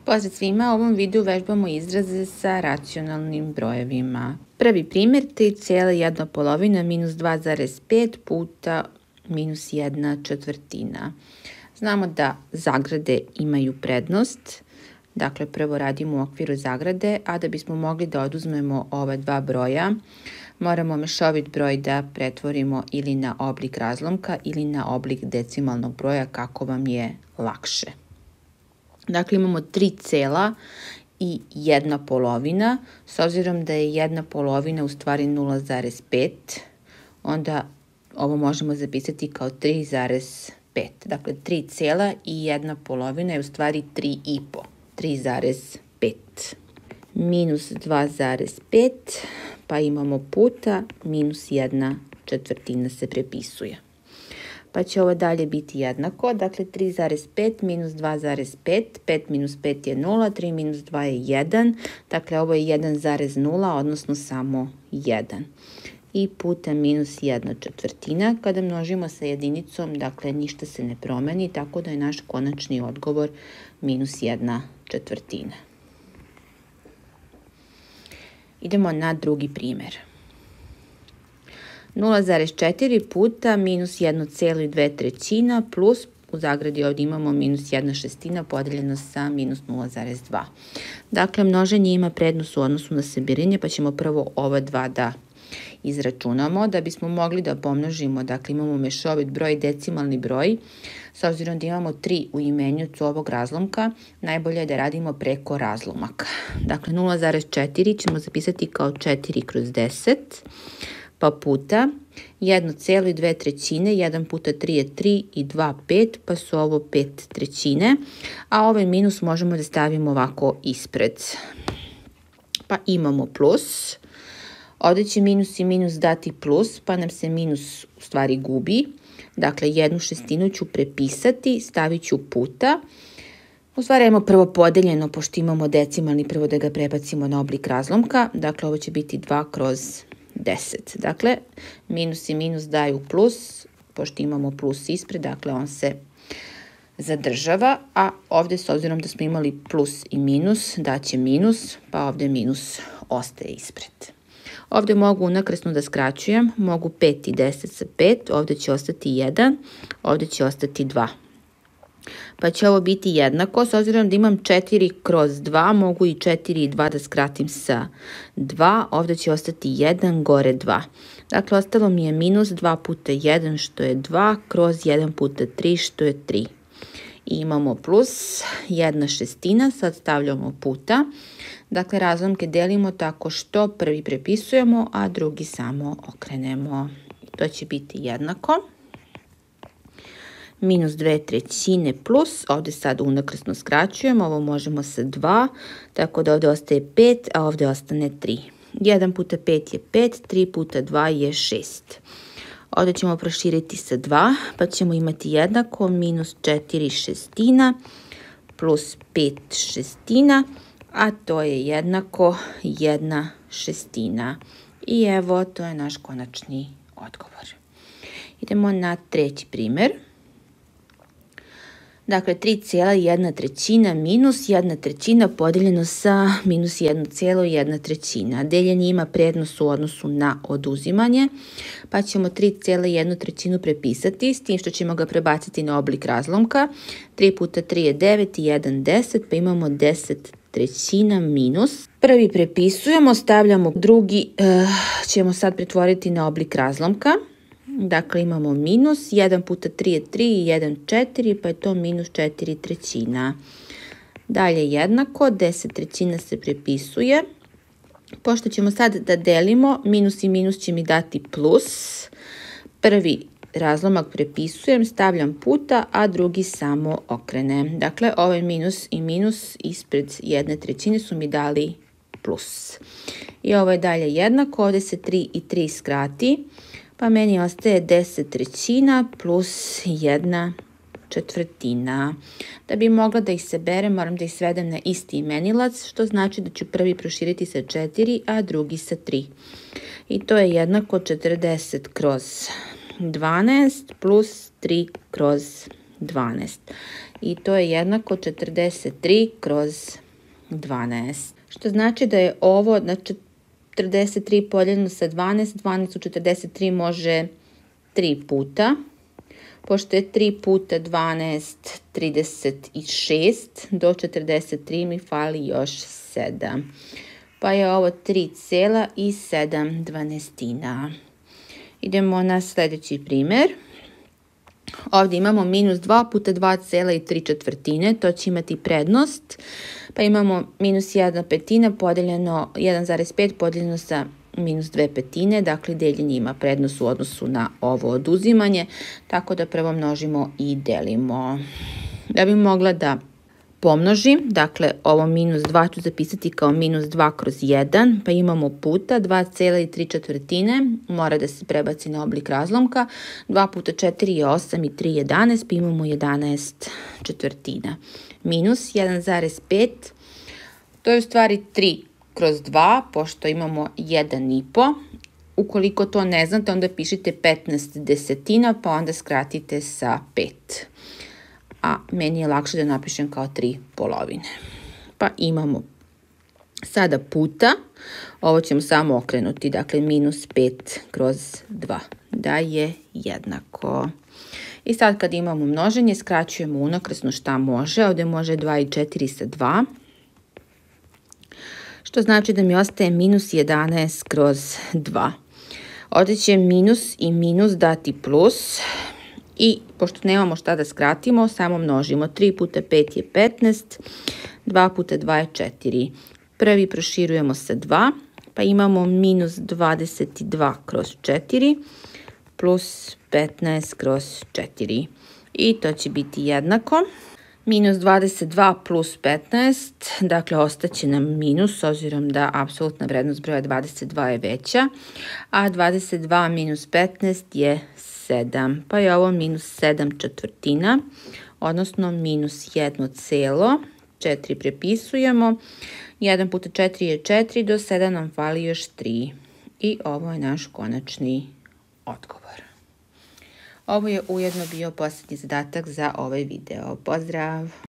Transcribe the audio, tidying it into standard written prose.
Pozdrav svima, u ovom videu vežbamo izraze sa racionalnim brojevima. Prvi primjer, 3,1 minus 2,5 puta minus 1/4. Znamo da zagrade imaju prednost, dakle prvo radimo u okviru zagrade, a da bismo mogli da oduzmemo ova dva broja, moramo mešovit broj da pretvorimo ili na oblik razlomka ili na oblik decimalnog broja kako vam je lakše. Dakle, imamo 3,1, s obzirom da je 1/2 u stvari 0,5, onda ovo možemo zapisati kao 3,5. Dakle, 3,1 je u stvari 3,5. 3,5. Minus 2,5, pa imamo puta minus 1/4 se prepisuje. Pa će ovo dalje biti jednako, dakle 3,5 minus 2,5, 5 minus 5 je 0, 3 minus 2 je 1, dakle ovo je 1,0, odnosno samo 1. I puta minus 1/4, kada množimo sa jedinicom, dakle ništa se ne promeni, tako da je naš konačni odgovor minus 1/4. Idemo na drugi primjer. 0,4 puta minus 1,2 plus, u zagradi ovdje imamo minus 1/6 podeljeno sa minus 0,2. Dakle, množenje ima prednost u odnosu na sabiranje, pa ćemo prvo ova dva da izračunamo. Da bismo mogli da pomnožimo, dakle imamo mešovit broj i decimalni broj, s obzirom da imamo 3 u imenjucu ovog razlomka, najbolje je da radimo preko razlomaka. Dakle, 0,4 ćemo zapisati kao 4/10, pa puta 1,2, 1 puta 3 je 3 i 2 5, pa su ovo 5/3, a ovaj minus možemo da stavimo ovako ispred. Pa imamo plus, ovdje će minus i minus dati plus, pa nam se minus u stvari gubi. Dakle, 1/6 ću prepisati, stavit ću puta. U stvari imamo prvo podeljeno, pošto imamo decimalni, prvo da ga prebacimo na oblik razlomka. Dakle, ovo će biti 2/10. Dakle, minus i minus daju plus, pošto imamo plus ispred, dakle on se zadržava, a ovdje s obzirom da smo imali plus i minus, daće minus, pa ovdje minus ostaje ispred. Ovdje mogu unakrsno da skraćujem, mogu 5 i 10 sa 5, ovdje će ostati 1, ovdje će ostati 2. Pa će ovo biti jednako, s obzirom da imam 4/2, mogu i 4 i 2 da skratim sa 2, ovdje će ostati 1, gore 2. Dakle, ostalo mi je minus 2 puta 1, što je 2, kroz 1 puta 3, što je 3. I imamo plus 1/6, sad stavljamo puta. Dakle, razlomke delimo tako što prvi prepisujemo, a drugi samo okrenemo. To će biti jednako. Minus 2/3 plus, ovdje sad unakrsno skraćujemo, ovo možemo sa 2, tako da ovdje ostaje 5, a ovdje ostane 3. 1 puta 5 je 5, 3 puta 2 je 6. Ovdje ćemo proširiti sa 2, pa ćemo imati jednako minus 4/6 plus 5/6, a to je jednako 1/6. I evo, to je naš konačni odgovor. Idemo na treći primjer. Dakle, 3,1 minus 1/3 podeljeno sa minus 1,1. Deljenje ima prednost u odnosu na oduzimanje, pa ćemo 3,1 prepisati, s tim što ćemo ga prebaciti na oblik razlomka. 3 puta 3 je 9 i 1 10, pa imamo 10/3 minus. Prvi prepisujemo, stavljamo drugi, ćemo sad pretvoriti na oblik razlomka. Dakle, imamo minus, 1 puta 3 je 3 i 1 4, pa je to minus 4/3. Dalje jednako, 10/3 se prepisuje. Pošto ćemo sad da delimo, minus i minus će mi dati plus. Prvi razlomak prepisujem, stavljam puta, a drugi samo okrenem. Dakle, ovaj minus i minus ispred 1/3 su mi dali plus. I ovo je dalje jednako, ovdje se 3 i 3 skrati. Pa meni ostaje 10/3 plus 1/4. Da bi mogla da ih saberem, moram da ih svedem na isti imenilac, što znači da ću prvi proširiti sa 4, a drugi sa 3. I to je jednako 40/12 plus 3/12. i to je jednako 43 kroz 12. Što znači da je ovo na 43 podijeljeno sa 12, 12 u 43 može 3 puta. Pošto je 3 puta 12, 36, do 43 mi fali još 7. Pa je ovo 3,7. Idemo na sljedeći primjer. Ovdje imamo minus 2 puta 2,3, to će imati prednost. Pa imamo minus 1/5 podijeljeno 1,5 podijeljeno sa minus 2/5, dakle deljenje ima prednost u odnosu na ovo oduzimanje, tako da prvo množimo i delimo. Da bi mogla da pomnožim, dakle ovo minus 2 ću zapisati kao minus 2 kroz 1, pa imamo puta 2,3, mora da se prebaci na oblik razlomka, 2 puta 4 je 8 i 3 je 11, pa imamo 11/4. Minus 1,5, to je u stvari 3 kroz 2, pošto imamo 1,5. Ukoliko to ne znate, onda pišite 15/10, pa onda skratite sa 5. A meni je lakše da napišem kao 3/2. Pa imamo sada puta, ovo ćemo samo okrenuti, dakle minus 5 kroz 2, da je jednako. I sad kad imamo množenje, skraćujemo unakrsno šta može, ovdje može 2 i 4 sa 2. Što znači da mi ostaje minus 11 kroz 2. Ovdje će minus i minus dati plus. I pošto nemamo šta da skratimo, samo množimo. 3 puta 5 je 15, 2 puta 2 je 4. Prvi proširujemo sa 2, pa imamo minus 22 kroz 4 plus 15 kroz 4. I to će biti jednako. Minus 22 plus 15, dakle ostaće nam minus, s obzirom da apsolutna vrednost broja 22 je veća, a 22 minus 15 je 7, pa je ovo minus 7/4, odnosno minus 1,4 prepisujemo. 1 puta 4 je 4, do 7 nam fali još 3. I ovo je naš konačni odgovor. Ovo je ujedno bio posljednji zadatak za ovaj video. Pozdrav!